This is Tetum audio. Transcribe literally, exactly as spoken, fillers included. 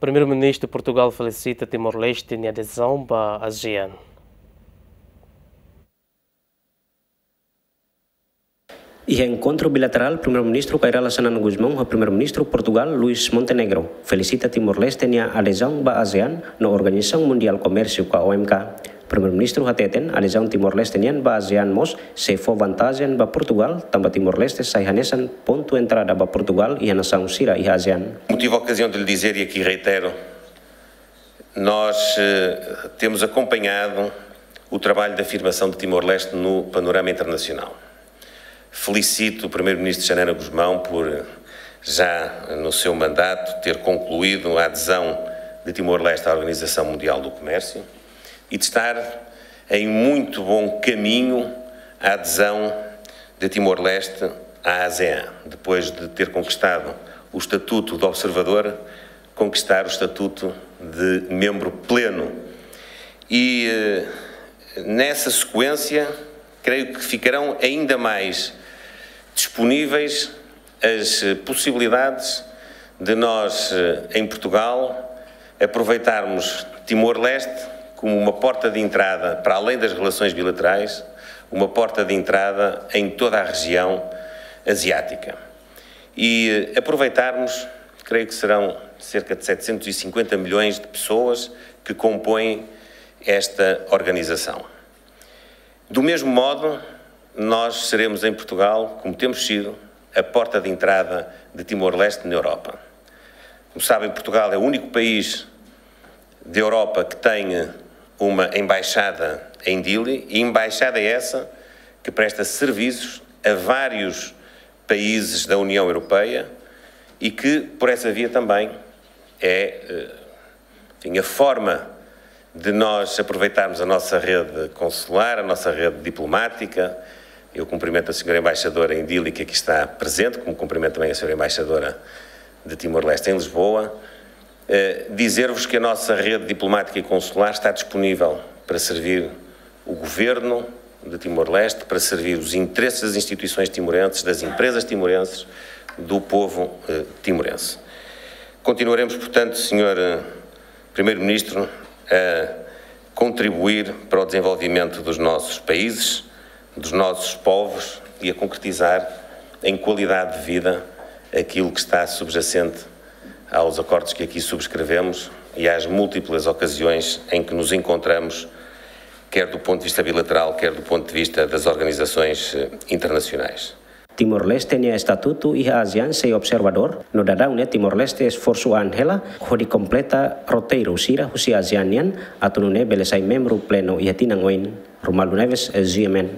Primeiru-Ministru Portugal felisita Timor-Leste nia adezaun ba ASEAN. Iha enkontru bilaterál, Primeiru-Ministru Kay Rala Xanana Gusmão ho Primeiru-Ministru Portugal, Luís Montenegro, felisita Timor-Leste nia adezaun ba ASEAN no Organizasaun Mundiál Komérsiu ka O M K. Primeiru-Ministru hateten, adezaun Timor-Leste nian ba ASEAN mós sei fó vantajen ba Portugal, tanba Timor-Leste sai hanesan pontu entrada ba Portugal iha nasaun sira iha ASEAN. Motivo, ocasião de lhe dizer, e aqui reitero, nós, eh, temos acompanhado o trabalho de afirmação de Timor-Leste no panorama internacional. Felicito o Primeiro-Ministro Xanana Gusmão por, já no seu mandato, ter concluído a adesão de Timor-Leste à Organização Mundial do Comércio e de estar em muito bom caminho a adesão de Timor-Leste à ASEAN, depois de ter conquistado o estatuto de observador, conquistar o estatuto de membro pleno. E, eh, nessa sequência, creio que ficarão ainda mais disponíveis as, eh, possibilidades de nós, eh, em Portugal, aproveitarmos Timor-Leste como uma porta de entrada para além das relações bilaterais, uma porta de entrada em toda a região asiática. E, eh, aproveitarmos, creio que serão cerca de setecentos e cinquenta milhões de pessoas que compõem esta organização. Do mesmo modo, nós seremos em Portugal, como temos sido, a porta de entrada de Timor-Leste na Europa. Como sabem, Portugal é o único país de Europa que tem uma embaixada em Dili, e embaixada é essa que presta serviços a vários países da União Europeia e que, por essa via, também é, eh, enfim, a forma de nós aproveitarmos a nossa rede consular, a nossa rede diplomática. Eu cumprimento a senhora embaixadora em Dili, que aqui está presente, como cumprimento também a senhora embaixadora de Timor-Leste em Lisboa. Eh, dizer-vos que a nossa rede diplomática e consular está disponível para servir o governo de Timor-Leste, para servir os interesses das instituições timorenses, das empresas timorenses, do povo, eh, timorense. Continuaremos, portanto, senhor, eh, Primeiro-Ministro, a contribuir para o desenvolvimento dos nossos países, dos nossos povos e a concretizar em qualidade de vida aquilo que está subjacente aos acordos que aqui subscrevemos e às múltiplas ocasiões em que nos encontramos, quer do ponto de vista bilateral, quer do ponto de vista das organizações, eh, internacionais. Timor-Leste nia estatutu iha ASEAN sei observadór, no daudaun ne'e Timor-Leste esforsu an hela hodi kompleta roteiru sira husi ASEAN nian, atu nune'e bele sai membru plenu iha tinan oin. Romualdo Neves, G M N.